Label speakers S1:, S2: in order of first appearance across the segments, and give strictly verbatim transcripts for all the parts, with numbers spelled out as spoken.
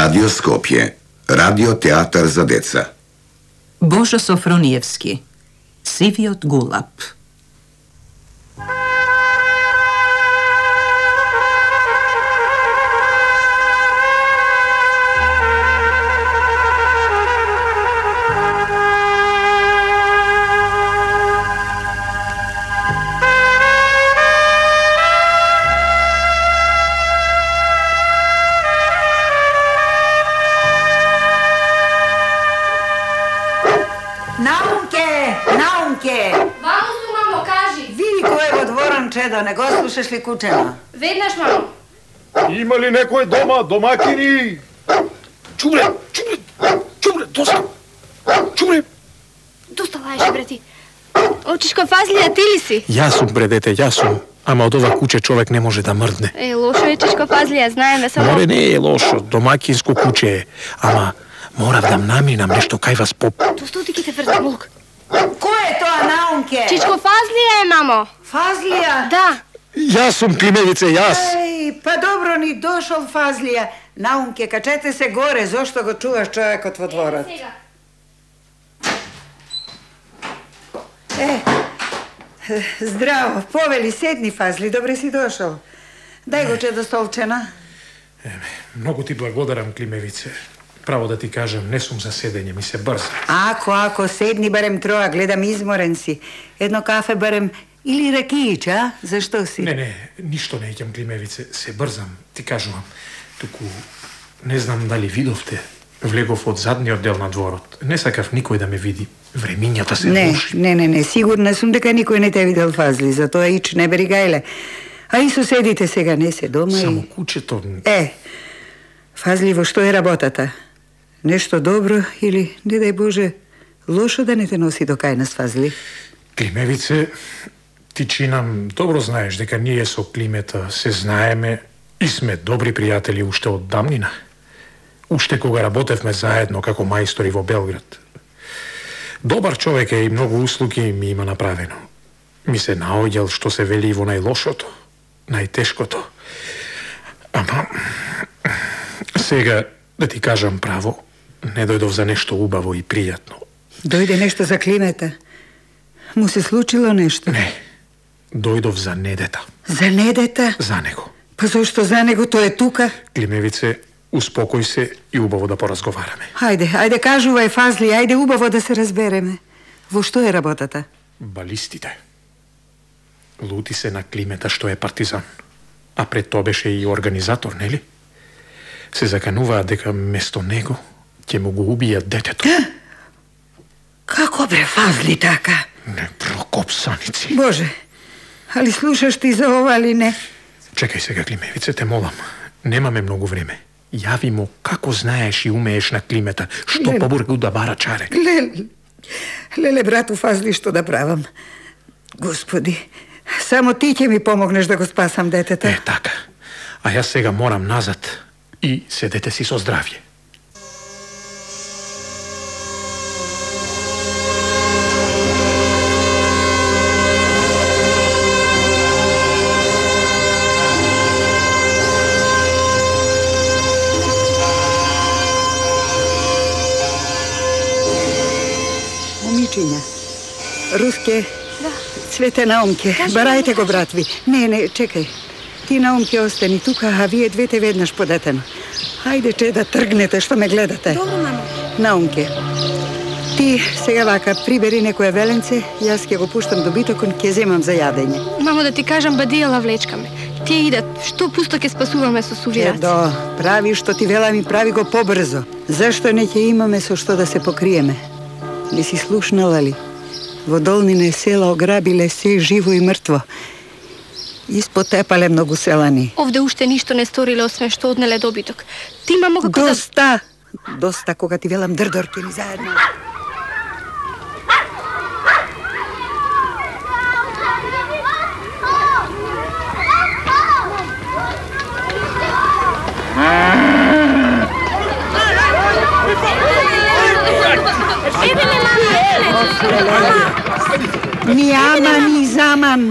S1: Радио Скопје, радио театар за деца.
S2: Божо Софрониевски, Сивиот гулаб.
S3: Чедо, не го слушаш ли кучено?
S4: Веднаш, мамо.
S5: Има ли некој дома, домакини? Чубре, чубре, чубре, доста. Чубре.
S4: Доста лаеш, бре ти. Очишко Фазлија, ти ли си?
S5: Јас сум, бре дете, јас сум. Ама од ова куче човек не може да мрдне.
S4: Е, лошо е, Чишко Фазлија, знаеме само...
S5: Море не е лошо, домакинско куче е. Ама морав да наминам нешто кај вас поп.
S4: Досто ти ки те врза, молк.
S3: Кој е тоа, Наумке?
S4: Чичко Фазлија е, мамо.
S3: Фазлија?
S4: Да.
S5: Јас сум, Климевице, јас.
S3: Еј, па добро ни дошол Фазлија. Наумке, качете се горе, зошто го чуваш човекот во дворот? Е, здраво, повели, седни, Фазли, добре си дошол. Дај го чедо столчена.
S5: Еме, многу ти благодарам, Климевице. Право да ти кажам, не сум за седење, ми се брза.
S3: Ако, ако, седни барем троа, гледам изморен си. Едно кафе барем или ракиич, а? Зашто си?
S5: Не, не, ништо не ќам, Климевице, се брзам, ти кажувам. Туку, не знам дали видовте, влегов од задниот дел на дворот. Не сакав никој да ме види. Времињата се
S3: не,
S5: лоши.
S3: Не, не, не, сигурна сум дека никој не те видел, Фазли, затоа ич не бери гајле. А и соседите сега не се дома.
S5: Само
S3: и...
S5: кучето...
S3: Е, Фазли, во што е работата? Нешто добро или, не дај Боже, лошо да не те носи до кај нас, Фазли?
S5: Климевице, ти чинам, добро знаеш дека ние со Климета се знаеме и сме добри пријатели уште од дамнина. Уште кога работевме заедно како мајстори во Белград. Добар човек е и многу услуги ми има направено. Ми се наоѓал што се вели во најлошото, најтешкото. Ама, сега, да ти кажам право, не дојдов за нешто убаво и пријатно.
S3: Дојде нешто за Климета? Му се случило нешто?
S5: Не, дојдов за Недета.
S3: За Недета?
S5: За него.
S3: Па зашто за него, тој е тука?
S5: Климевице, успокој се и убаво да поразговараме.
S3: Ајде, ајде кажувај, Фазли, ајде убаво да се разбереме. Во што е работата?
S5: Балистите. Лути се на Климета што е партизан. А пред тоа беше и организатор, нели? Се закануваат дека место него ќе му го убијат детето.
S3: Како бре, Фазли, така?
S5: Не, прокопсаници.
S3: Боже, али слушаш ти за ова или не?
S5: Чекај сега, Климевице, те молам. Немаме многу време. Јави му како знаеш и умееш на Климета, што
S3: Леле.
S5: побургу да бара чаре.
S3: Леле, леле, брату Фазли, што да правам? Господи, само ти ќе ми помогнеш да го спасам детето.
S5: Е, така. А јас сега морам назад и седете си со здравје.
S3: Момичиња, Руске,
S4: Да.
S3: Цвете, Наумке,
S4: Кажи,
S3: барајте
S4: мамо,
S3: го, братви. Не, не, чекај. Ти, Наумке, остани тука, а вие двете веднаш по детено. Хајде, че да тргнете што ме гледате.
S4: Добро, мамо.
S3: Наумке, ти сега вака прибери некое веленце, јас ќе го пуштам добитокон, ќе земам за јадење.
S4: Мамо, да ти кажам, бадијала влечкаме. Тие идат, што пусто ќе спасуваме со сувираци.
S3: Едо, прави што ти велам и прави го побрзо. Зашто не ќе имаме со што да се покриеме? Не си слушнала ли? Во долнине села ограбиле се живо и мртво. Испотепале многу селани.
S4: Овде уште ништо не сториле, освен што однеле добиток. Ти, мамо, како да...
S3: Доста! Доста, кога ти велам дрдорки ни заедно. Ни аман, ни заман.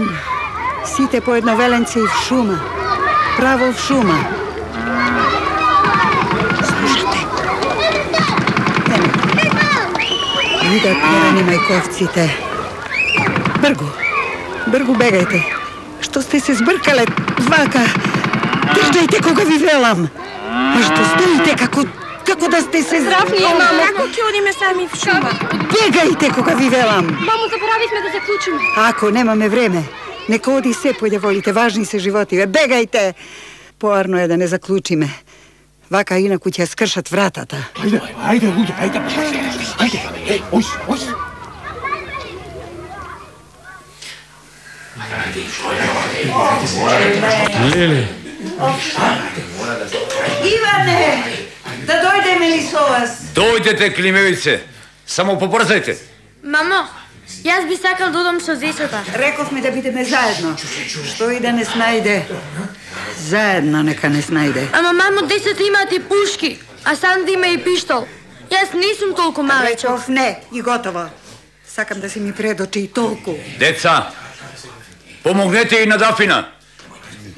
S3: Сите по едно веленце и в шума. Право в шума. Слушат. идат терани мајковците. Бргу, бргу бегајте. Што сте се збркале, вака? Држајте кога ви велам. А што стоите како како да сте се
S4: Здравније, мамо. Како ќе одиме сами в шума?
S3: Бегајте кога ви велам.
S4: Мамо, заборавивме да заклучиме.
S3: Ако немаме време, нека оди се појде волите, важни се животиве. Бегајте! Поарно е да не заклучиме. Вака инаку ќе скршат вратата.
S5: Ајде, ајде, луѓе, ајде. Ајде, еј, ојс, ојс. Леле.
S3: Иване, да дојдеме ли со вас?
S6: Дојдете, климевице. Само побрзајте.
S4: Мамо, јас би сакал да одам со зечата.
S3: Рековме да бидеме заедно. Што и да не снајде. Заедно нека не снајде.
S4: Ама мамо, децата имаат и пушки, а Санди има и пиштол. Јас не сум толку малечок.
S3: Реков не и готово. Сакам да си ми предочи и толку.
S6: Деца, помогнете и на Дафина.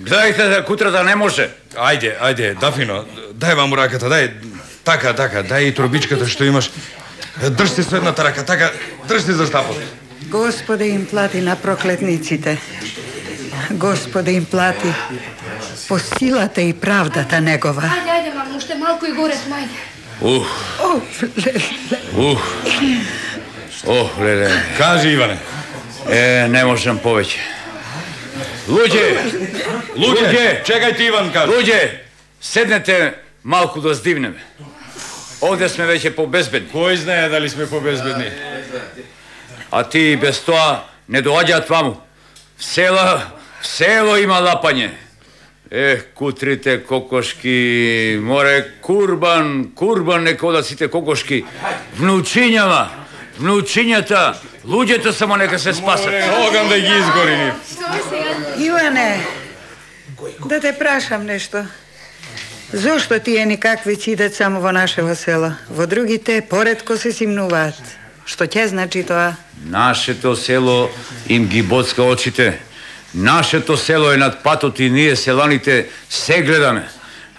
S6: Гледајте да кутрата не може.
S7: Ајде, ајде, Дафино, дај вам раката, дај. Така, така, дај и трубичката што имаш. Држте со едната рака, така, држте за штапот.
S3: Господе им плати на проклетниците. Господе им плати по силата и правдата негова.
S4: Ајде, ајде, мамо, уште малку и горе сме, ајде.
S6: Ух,
S3: О, леле.
S6: ух. Ох, леле.
S7: Кажи, Иване.
S6: Е, не можам повеќе. Луѓе,
S7: Луѓе, чекајте, Иван, кажи.
S6: луѓе, седнете малку да здивнеме. Овде сме веќе побезбедни.
S7: Кој знае дали сме побезбедни?
S6: А ти без тоа не доаѓаат ваму. В села, в село има лапање. Ех, кутрите кокошки, море, курбан, курбан нека одат сите кокошки. Внучињава, внучињата, луѓето само нека се спасат.
S7: Огам да ги изгори нив.
S3: Иване, да те прашам нешто. Зошто тие никакви ќе идат само во нашево село? Во другите поредко се симнуваат. Што ќе значи тоа?
S6: Нашето село им ги боцка очите. Нашето село е над патот и ние селаните се гледаме.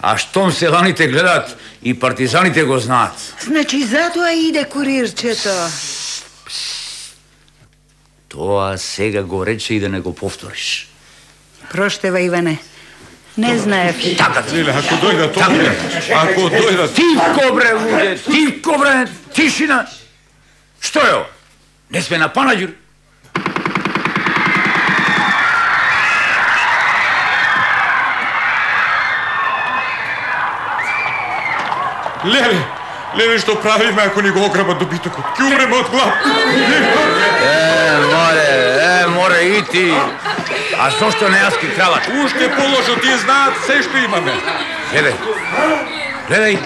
S6: А штом селаните гледат, и партизаните го знаат.
S3: Значи затоа иде курирчето.
S6: Тоа сега го рече и да не го повториш.
S3: Проштева, Иване. Не знаев.
S6: Така,
S7: Леле, ако дојдат овде, ако дојдат...
S6: тивко бре, луѓе, тивко бре, тишина. Што е ово? Не сме на Панаѓур.
S7: Леле, леле, што правиме ако ни го ограбат добитокот? Ке умреме од глад.
S6: Е, море, е, море и ти. А зошто не јас ки кралат?
S7: Уште положо, тие знаат се што имаме.
S6: Гледај, гледај.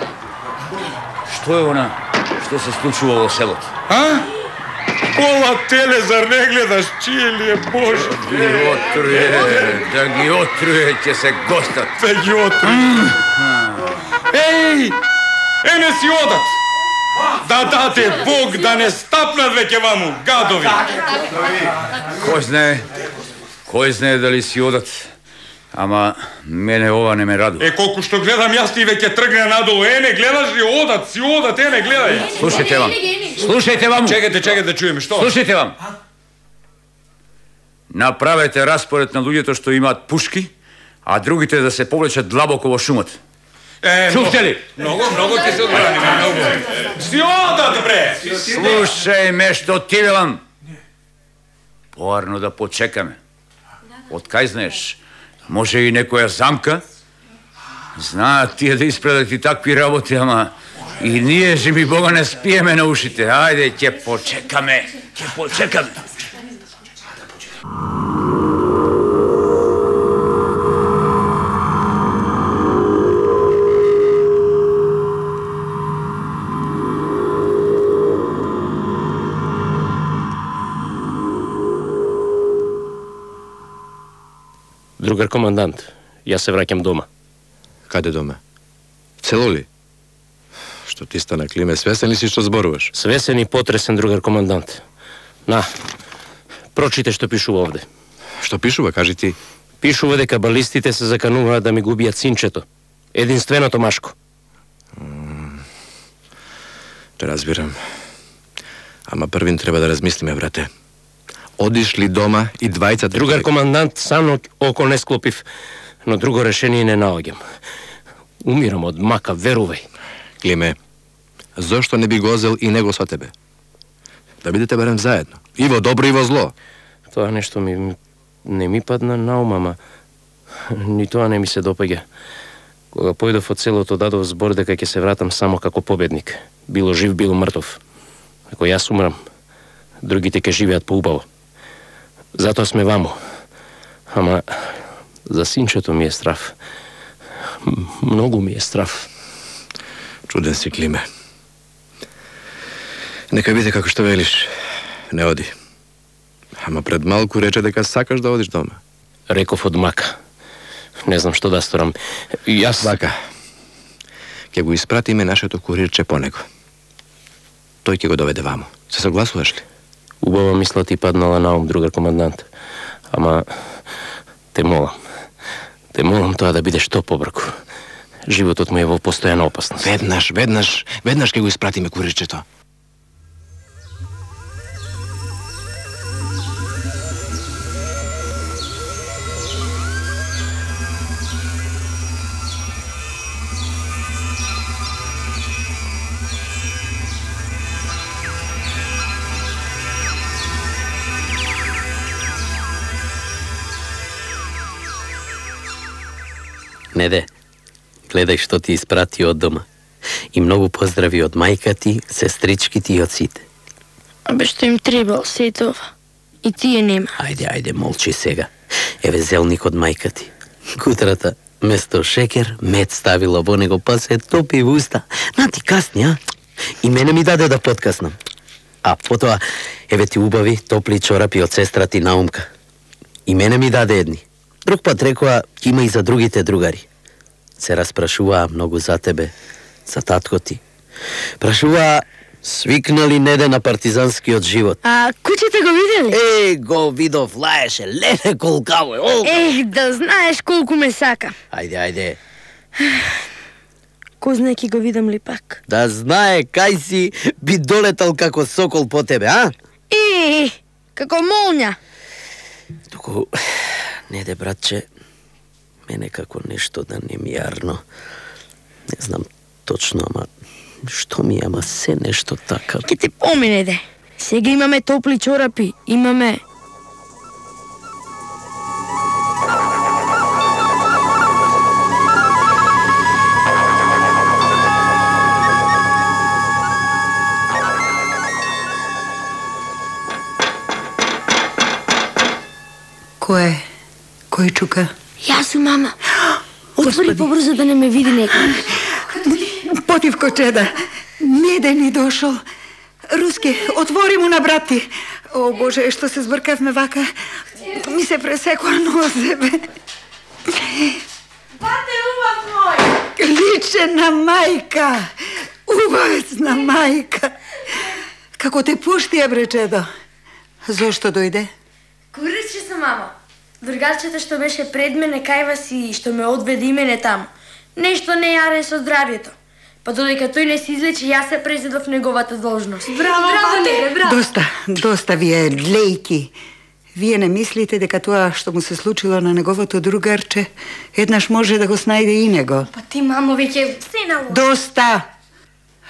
S6: Што е она што се случува во селото?
S7: А? Кола теле, зар не гледаш? Чие ли е, Боже?
S6: Ги отруе, да ги отруе, ќе се гостат.
S7: Да ги отруе. Еј! Е, не си одат! Да дате Бог да не стапнат веќе ваму, гадови!
S6: Кој знае, кој знае дали си одат, ама мене ова не ме радува.
S7: Е, колку што гледам јас ти веќе тргне надолу. Е, не гледаш ли? Одат, си одат, е, не гледај.
S6: Слушајте вам, слушајте вам,
S7: Чекайте, чекайте да чуеме, што?
S6: слушајте вам. Направете распоред на луѓето што имаат пушки, а другите да се повлечат длабоко во шумот.
S7: Е,
S6: Чувте ли?
S7: Многу, многу ќе се одбраниме, многу. Си одат, бре!
S6: Слушај ме што ти велам. Поарно да почекаме. Од кај знаеш? Може и некоја замка? Знаат тие да испредат и такви работи, ама и ние, живи Бога, не спиеме на ушите. Ајде, ќе почекаме, ќе почекаме.
S8: Другар командант, јас се враќам дома.
S9: Каде дома? Цело ли? Што ти стана, Климе, свесен ли си што зборуваш?
S8: Свесен и потресен, другар командант. На, прочите што пишува овде.
S9: Што пишува, кажи ти?
S8: Пишува дека балистите се закануваат да ми го убијат синчето. Единственото машко.
S9: Те разбирам. Ама првин треба да размислиме, брате. Одиш ли дома и двајцата...
S8: Другар командант, сам око не склопив, но друго решение не наоѓам. Умирам од мака, верувај.
S9: Климе, зошто не би го зел и него со тебе? Да бидете барем заедно. И во добро, и во зло.
S8: Тоа нешто ми не ми падна на ум, ама ни тоа не ми се допаѓа. Кога појдов од селото, дадов збор дека ќе се вратам само како победник. Било жив, било мртов. Ако јас умрам, другите ќе живеат поубаво. Затоа сме вамо. Ама за синчето ми е страв. Многу ми е страв.
S9: Чуден си, Климе. Нека биде како што велиш. Не оди. Ама пред малку рече дека сакаш да одиш дома.
S8: Реков од мака. Не знам што да сторам. Јас...
S9: Вака. Ќе го испратиме нашето курирче по него. Тој ќе го доведе вамо. Се согласуваш ли?
S8: Убава мисла ти паднала на ум, другар командант. Ама те молам. Те молам тоа да биде што побрку. Животот му е во постојана опасност.
S9: Веднаш, веднаш, веднаш ќе го испратиме курирчето.
S10: Неде, гледај што ти испрати од дома. И многу поздрави од мајка ти, сестрички ти и од сите.
S4: Абе што им требал се това. И тие нема.
S10: Ајде, ајде, молчи сега. Еве зелник од мајка ти. Кутрата, место шекер, мед ставила во него, па се топи во уста. На ти касни, а? И мене ми даде да подкаснам. А потоа, еве ти убави, топли чорапи од сестра ти Наумка. И мене ми даде едни. Друг пат рекоа, има и за другите другари. Се распрашуваа многу за тебе, за татко ти. Прашуваа, свикнали Неде на партизанскиот живот.
S4: А кучето го видели?
S10: Е, го видов, лаеше, леле колкаво е. О!
S4: Ех, да знаеш колку ме сака.
S10: Ајде, ајде.
S4: Кој знае ки го видам ли пак?
S10: Да знае, кај си би долетал како сокол по тебе, а?
S4: Е, како молња.
S10: Туку, Неде, братче, мене како нешто да не ми јарно. Не знам точно, ама што ми е, ама се нешто така.
S4: Ке ти помине, де. Сега имаме топли чорапи, имаме...
S3: Кој е? Кој чука?
S4: Јас сум, мама. Отвори побрзо да не ме види некој.
S3: Потивко чеда. Неде ни дошол. Руски, отвори му на брат ти. О, Боже, што се збркавме вака. Ми се пресекоа нозебе.
S4: Бате, убав мој!
S3: Личе на мајка. Убавец на мајка. Како те пушти, бре, чедо? Зошто дојде?
S4: Куриче се, мамо. Другарчето што беше пред мене кајва си и што ме одведе и мене таму. Нешто не јарен со здравјето. Па додека тој не се излечи, јас се презедов неговата должност.
S3: Браво,
S4: браво,
S3: бате!
S4: браво!
S3: Доста, доста вие длејки. Вие не мислите дека тоа што му се случило на неговото другарче, еднаш може да го снајде и него?
S4: Па ти, мамо, веќе се налози.
S3: Доста!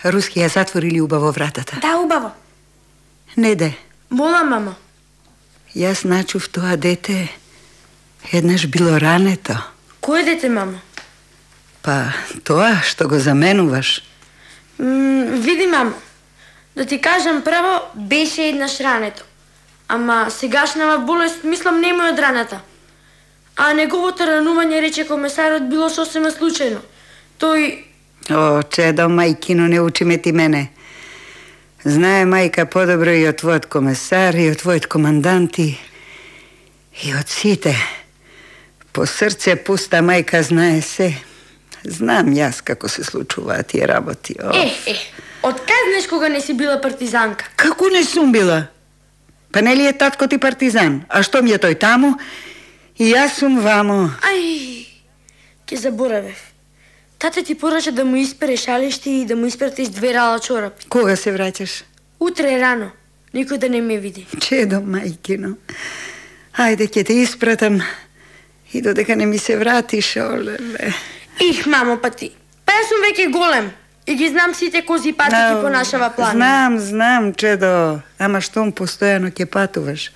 S3: Руски ја затворили убаво вратата.
S4: Да, убаво.
S3: Неде.
S4: Мола, мамо.
S3: Јас начув тоа дете еднаш било рането.
S4: Кој дете, мамо?
S3: Па, тоа што го заменуваш.
S4: М, види, мамо. Да ти кажам право, беше еднаш рането. Ама сегашнава болест, мислам, нема од раната. А неговото ранување, рече комесарот, било сосема случајно. Тој...
S3: О, чедо, мајкино, не учи ме ти мене. Знае мајка подобро и од твојот комесар, и од твојот командант, и од сите. По срце пуста мајка знае се. Знам јас како се случуваат тие работи. О.
S4: Е, е, откај знаеш кога не си била партизанка?
S3: Како не сум била? Па нели е татко ти партизан? А што ми е тој таму? И јас сум вамо.
S4: Ај, ке заборавев. Тате ти порача да му испере шалишти и да му испратиш две рала чорапи.
S3: Кога се враќаш?
S4: Утре рано. никој да не ме види.
S3: Чедо, мајкино. Ајде, ќе те испратам и додека не ми се вратиш, олеле.
S4: Их, мамо, па ти. Па јас сум веќе голем и ги знам сите кози пати ќе понашава планина.
S3: Знам, знам, чедо, ама штом постојано ќе патуваш.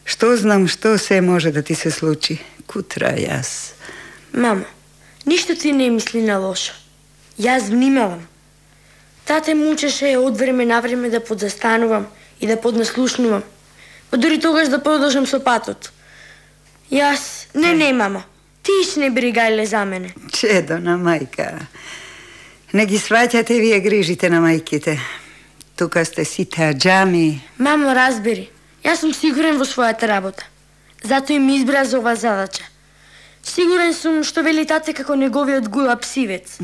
S3: Што знам, што се може да ти се случи. Кутра јас.
S4: Мамо, ништо ти не мисли на лошо. Јас внимавам. Тате му учеше од време на време да подзастанувам и да поднаслушнувам. Па дури тогаш да продолжам со патот. Јас, не, не, мамо. Ти иш не бригајле за мене.
S3: Чедо на мајка. Не ги сваќате вие грижите на мајките. Тука сте сите аџами.
S4: Мамо, разбери. Јас сум сигурен во својата работа. Затоа и ми избра за ова задача. Сигурен сум што вели тате како неговиот Гулап Сивец.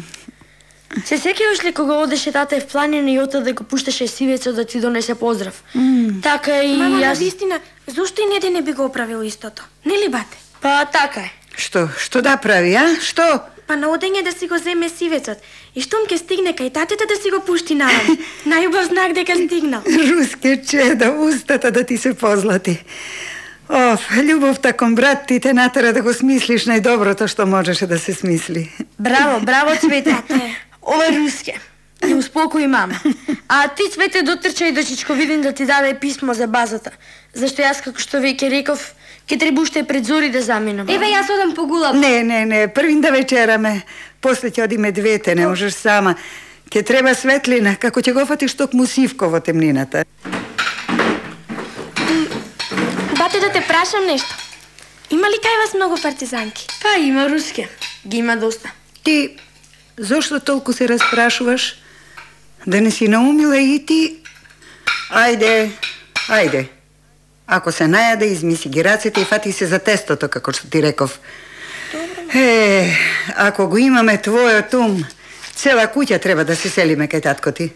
S4: Се сеќаваш ли кога одеше тате в планина и ота да го пушташе Сивецот да ти донесе поздрав?
S11: Mm.
S4: Така и
S11: Мама,
S4: јас...
S11: навистина, зошто и неде не би го оправил истото? Нели, бате?
S4: Па така е.
S3: Што? Што да прави, а? Што?
S11: Па на одење да си го земе Сивецот и штом ке стигне кај татето да си го пушти навам. Најубав знак дека стигнал.
S3: Руске чедо, устата да ти се позлати. Оф, љубовта кон брат ти те натера да го смислиш најдоброто што можеше да се смисли.
S4: Браво, браво, Цвете. Ова е Руске. Ја успокои мама. А ти, Цвете, дотрчај до Чичковидин да ти даде писмо за базата. Зашто јас, како што веќе реков, ке треба уште пред зори да заминам.
S11: Еве, јас одам по Гулап.
S3: Не, не, не, првин да вечераме. После ќе одиме двете, не можеш сама. Ке треба светлина, како ќе го фатиш токму сивко во темнината.
S11: Бате, да те прашам нешто. Има ли кај вас многу партизанки?
S4: Па има, Руске. Ги има доста.
S3: Ти, зошто толку се распрашуваш? Да не си наумила и ти? Ајде, ајде. Ако се најаде, измиси ги рацете и фати се за тестото, како што ти реков. Е, ако го имаме твојот ум, цела куќа треба да се селиме кај татко ти.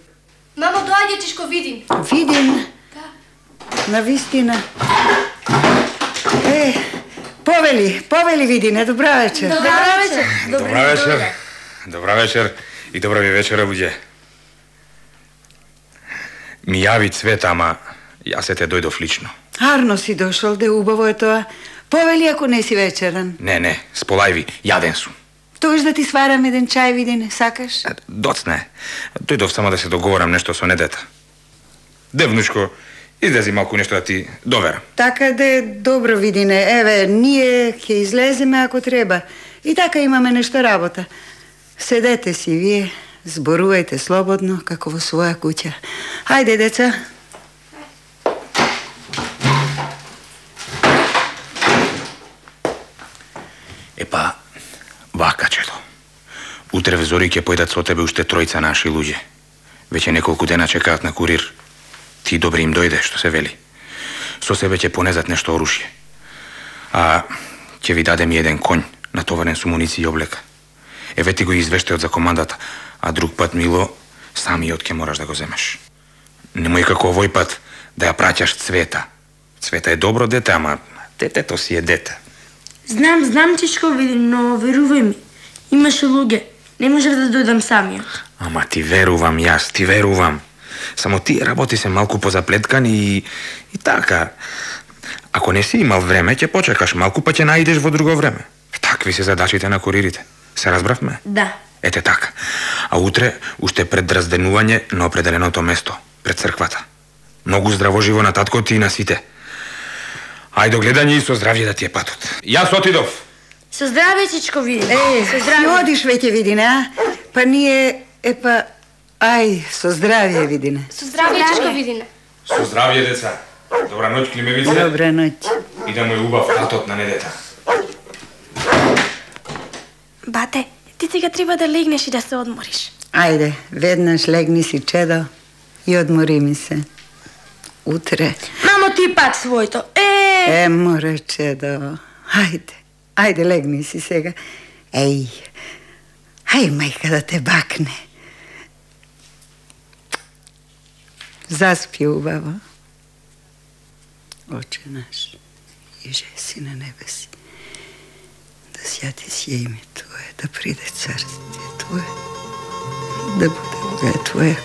S11: Мамо, доаѓа Чичко Видин.
S3: Видин?
S11: Да.
S3: Навистина. Е, повели, повели Видине, добра вечер.
S4: Добра вечер.
S7: Добра вечер. Добра вечер и добра ви вечера, буѓе. Ми јави Цвета, ама јас се те дојдов лично.
S3: Арно си дошол, де убаво е тоа. Повели ако не си вечеран.
S7: Не, не, сполајви, јаден сум.
S3: Тоеш да ти сварам еден чај, Видине, сакаш?
S7: Доцне. Дојдов само да се договорам нешто со недета. Девнушко, излези малку нешто да ти доверам.
S3: Така де, добро, Видине. Еве, ние ќе излеземе ако треба. И така имаме нешто работа. Седете си вие, зборувајте слободно, како во своја куќа. Хајде, деца.
S7: Епа, вака, чедо. Утре в зори ќе појдат со тебе уште тројца наши луѓе. Веќе неколку дена чекаат на курир. Ти добри им дојде, што се вели. Со себе ќе понезат нешто оружје. А ќе ви дадем еден конј, натоварен со муниција и облека. Еве ти го извештајот за командата, а друг пат, Мило, самиот ќе мораш да го земеш. Немој како овој пат да ја праќаш Цвета. Цвета е добро дете, ама детето си е дете.
S4: Знам, знам, Чичко Видин, но верувај ми. Имаше луѓе. Не можев да дојдам самиот.
S7: Ама ти верувам јас, ти верувам. Само ти работи се малку позаплеткан и... и така. Ако не си имал време, ќе почекаш малку, па ќе наидеш во друго време. Такви се задачите на куририте. Се разбравме?
S4: Да.
S7: Ете така. А утре, уште пред разденување на определеното место, пред црквата. Многу здраво живо на татко ти и на сите. Ајде до гледање и со здравје да ти е патот. Јас отидов.
S4: Со здравје, Чичко Видин.
S3: Е,
S4: со здравје.
S3: одиш веќе, Видине, а? Па ние, епа, ај, со здравје, Видине.
S11: Со здравје, Чичко Видин.
S7: Со здравје, деца. Добра ноќ, Климевице.
S3: Добра ноќ.
S7: И да му е убав татот на недета.
S11: Бате, ти сега треба да легнеш и да се одмориш.
S3: Ајде, веднаш легни си, чедо, и одмори ми се. Утре.
S4: Мамо, ти пак својто. Е!
S3: Е, море, чедо. Ајде, ајде, легни си сега. Еј, ај, мајка да те бакне. Заспи убаво. Оче наш, иже си на небеси, да свјати си име Твое, да приде царствие Твое, да буде воля Твоја.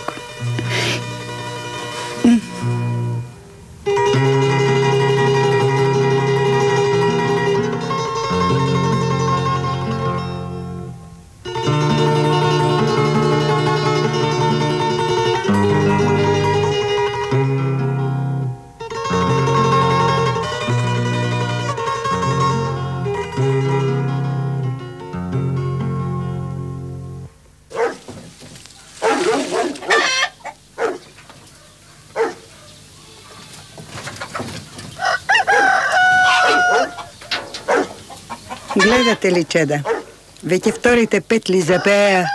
S3: гледате ли, чеда? Веќе вторите петли запеа,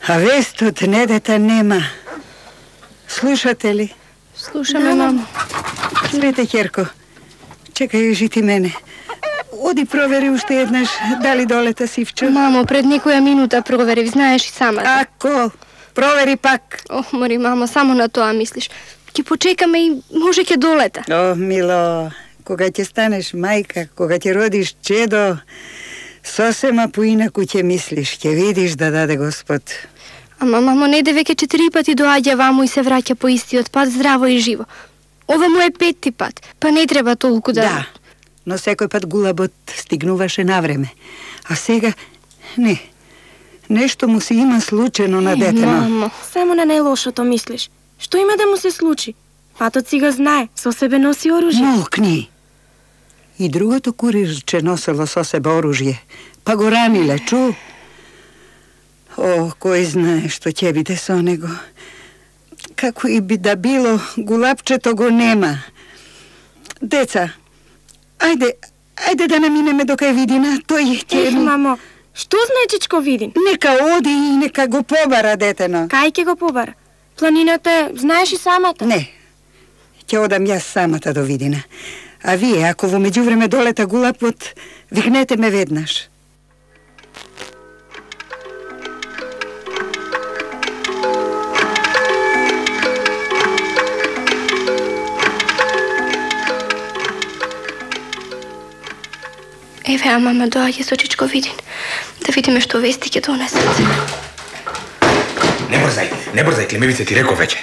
S3: а вестот недета нема. Слушате ли?
S11: Слушаме, мамо.
S3: Лете, Керко. Чекај, жити мене. Оди провери уште еднаш дали долета Сивчо.
S11: Мамо, пред некоја минута проверив, знаеш и самата.
S3: Ако? Провери пак.
S11: Ох, мори, мамо, само на тоа мислиш. Ќе почекаме и може ќе долета.
S3: О, мило, кога ќе станеш мајка, кога ќе родиш чедо, сосема поинаку ќе мислиш, ќе видиш да даде Господ.
S11: Ама, мамо, неде веќе четири пати доаѓа ваму и се враќа по истиот пат, здраво и живо. Ова му е петти пат, па не треба толку да...
S3: Да, но секој пат гулабот стигнуваше на време. А сега, не, нешто му се има случено на детено.
S11: Мамо,
S12: само на најлошото мислиш. Што има да му се случи? Патот си го знае, со себе носи оружје.
S3: Молкни! И другото курирче носело со себе оружје, па го раниле, чу? О, кој знае што ќе биде со него. Како и би да било, гулапчето го нема. Деца, ајде, ајде да наминеме до кај Видина, тој ќе...
S12: Ех, мамо, што знае Чичко Видин?
S3: Нека оди и нека го побара детено.
S12: Кај ќе го побара? Планината, знаеш и самата?
S3: Не, ќе одам јас самата до Видина. А вие, ако во меѓувреме долета гулапот, викнете ме веднаш.
S11: Еве, а мама доаѓа со Чичко Видин. Да видиме што вести ќе донесат.
S7: Не брзај, не брзај, Климевице ти реков веќе.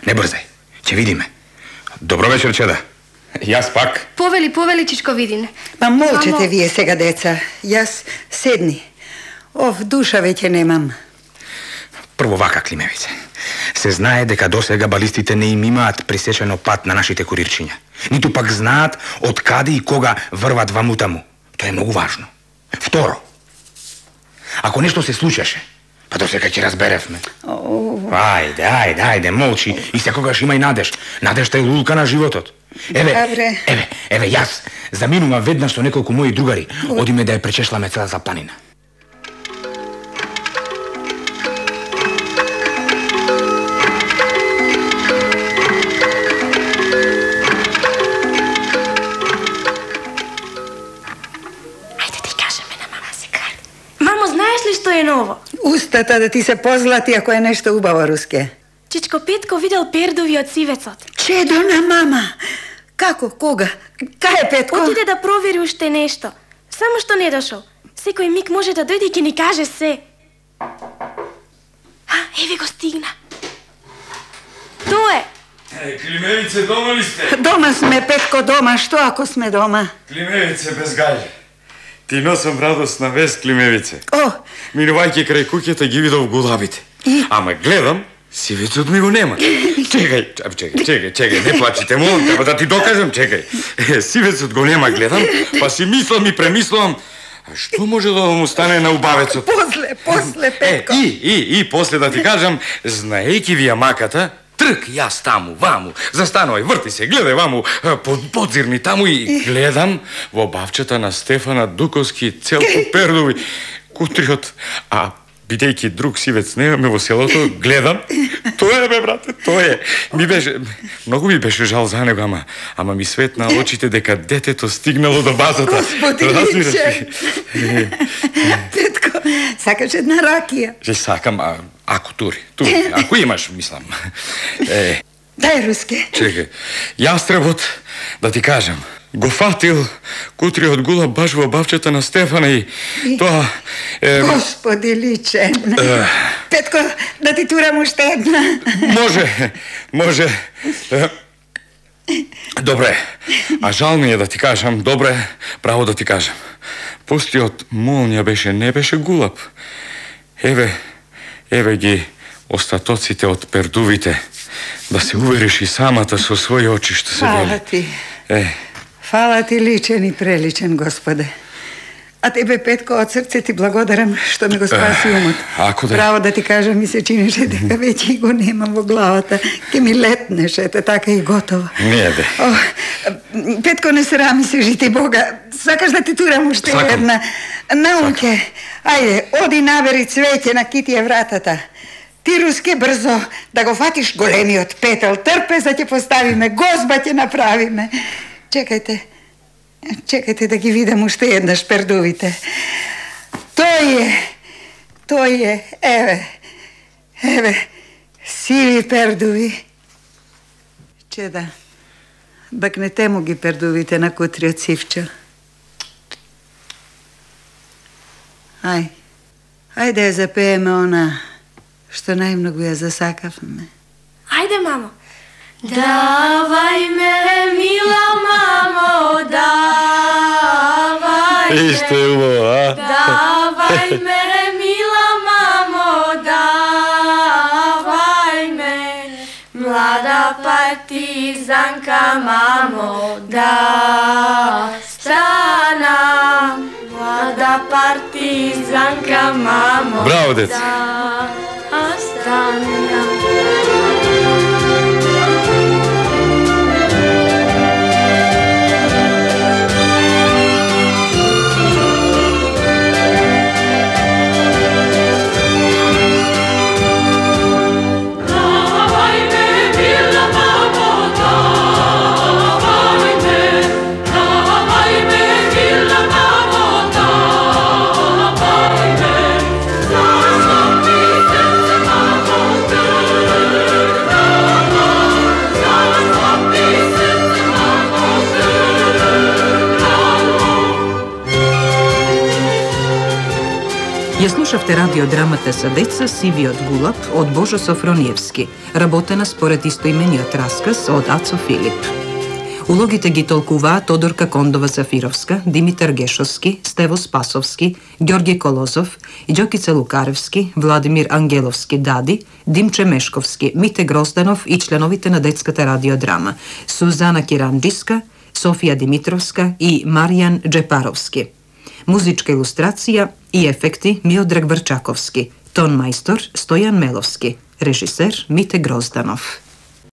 S7: Не брзај, ќе видиме. Добро вечер, чеда. Јас пак.
S11: Повели, повели, Чичко Видин.
S3: Па молчете
S11: Мамо...
S3: вие сега, деца. Јас седни. Ов, душа веќе немам.
S7: Прво вака, Климевице. Се знае дека досега балистите не им имаат пресечено пат на нашите курирчиња. Ниту пак знаат од каде и кога врват ваму таму. Тоа е многу важно. Второ, ако нешто се случеше, па досега ќе разберевме.
S3: Oh.
S7: Ајде, ајде, ајде, молчи и секогаш има и надеж. Надежта е лулка на животот. Еве,
S3: Добре.
S7: еве, еве, јас заминувам веднаш со неколку мои другари. Одиме да ја пречешламе целата планина.
S12: Што е ново?
S3: Устата да ти се позлати ако е нешто убаво, Руске.
S12: Чичко Петко видел пердовиот сивецот.
S3: Чедо на мама! Како? Кога? Кај е Петко?
S12: Отиде да провери уште нешто. Само што не дошол. Секој миг може да дојде и ќе ни каже се. А, еве го стигна. Тоа е.
S6: Е, Климевице, дома ли сте?
S3: Дома сме, Петко, дома. Што ако сме дома?
S6: Климевице, без гајле. Ти носам радостна вест, Климевице.
S3: О!
S6: Минувајќи крај куќата ги видов гулабите.
S3: И?
S6: Ама гледам, сивецот ми го нема. Чекај, чекај, чекај, чекај, не плачите, молам те, да ти докажам, чекај. Е, сивецот го нема, гледам, па си мислам и премислам, а што може да му стане на убавецот?
S3: После, после, Петко.
S6: Е, и, и, и, после да ти кажам, знаејќи ви ја маката, трк, јас таму, ваму, застанувај, врти се, гледај ваму, под, подзирни таму и гледам во бавчата на Стефана Дуковски целку пердови, кутриот, а бидејќи друг сивец немаме во селото, гледам, тоа е, бе, брате, тоа е. Ми беше, многу ми беше жал за него, ама, ама ми светна очите дека детето стигнало до базата.
S3: Господи, личе. Петко, сакаш една ракија?
S6: Же сакам, а, ако тури, тури, ако имаш, мислам. Е,
S3: Дај, Руске.
S6: чекай, јастребот, да ти кажам, го фатил кутриот гулаб баш во бавчата на Стефана и, и... тоа... Е...
S3: Господи, личен.
S6: Е...
S3: Петко, да ти турам уште една.
S6: Може, може. Е... Добре, а жал ми е да ти кажам, добре, право да ти кажам. Пустиот молња беше, не беше гулаб. Еве, еве ги остатоците од пердувите. Да се увериш и самата со своји очи што се вели.
S3: Фала ти.
S6: Е.
S3: Фала ти, личен и преличен, Господе. А тебе, Петко, од срце ти благодарам што ми го спаси умот.
S7: Ако да...
S3: Право да ти кажам, ми се чинеше дека веќе го немам во главата. Ке ми летнеше, ете така и готово.
S7: Не, бе.
S3: О, Петко, не срами се, жити Бога. Сакаш да ти турам уште една? Наумке, ајде, оди набери цвеќе на китија вратата. Ти, Руске, брзо да го фатиш големиот петел. Трпе, за ќе поставиме, гозба ќе направиме. Чекајте. Чекајте да ги видам уште еднаш пердувите. Тој е, тој е, еве, еве, сиви пердуви. Чеда, бакнете му ги пердувите на кутриот сивчо. Ај, ајде ја запееме она што најмногу ја засакавме.
S12: Ајде, мамо.
S4: Давај ме, мила мамо, давај ме.
S7: Исто е убаво, а?
S4: Давај ме, мила мамо, давај ме. Млада партизанка, мамо, да станам. Млада партизанка, мамо,
S7: Браво, дец.
S4: да станам.
S2: Ја слушавте радиодрамата за деца Сивиот гулап од Божо Софрониевски, работена според истоимениот расказ од Ацо Филип. Улогите ги толкуваа Тодорка Кондова-Зафировска, Димитар Гешовски, Стево Спасовски, Ѓорги Колозов, Ѓокица Лукаревски, Владимир Ангеловски Дади, Димче Мешковски, Мите Грозданов и членовите на детската радиодрама, Сузана Киранџиска, Софија Димитровска и Маријан Джепаровски. Музичка илустрација и ефекти Миодраг Врчаковски, тон мајстор Стојан Меловски, режисер Мите Грозданов.